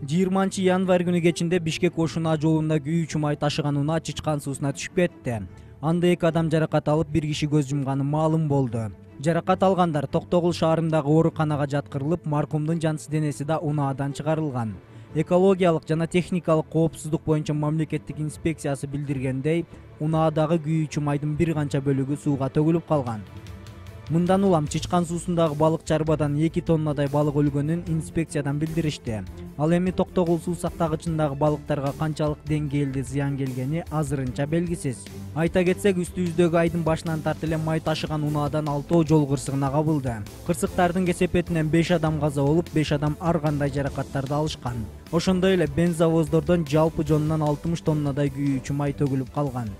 20-январь күнү кечинде Бишкек Ош-Унаа жолунда күйүүчү май ташыган унаа Чычкан суусуна түшүп кетти. Анда 2 адам жаракат алып, 1 киши көз жумганы маалым болду. Жаракат алгандар Токтогул шаарындагы ооруканага жаткырылып, маркумдун жансыз денеси да унаадан чыгарылган. Экологиялык жана техникалык коопсуздук боюнча мамлекеттик инспекциясы билдиргендей, унаадагы күйүүчү майдын бир канча бөлүгү сууга төгүлүп калган. Мындан улам Чычкан суусундагы балык чарбадан 2 тоннадай балык өлгөнүн инспекциядан билдиришти. Ал эми Токтогул суу сактагычындагы балыктарга канчалык деңгээлде зыян келгени азырынча белгисиз. Айта кетсек, үстүбүздөгү айдын башынан тартып эле май ташыган унаадан 6 жол кырсыгына кабылды. Кырсыктардын кесепетинен 5 адам каза болуп, 5 адам ар кандай жаракаттарды алышкан. Ошондой эле бензовоздордон жалпы жонунан 60 тоннадай күйүүчү май төгүлүп калган.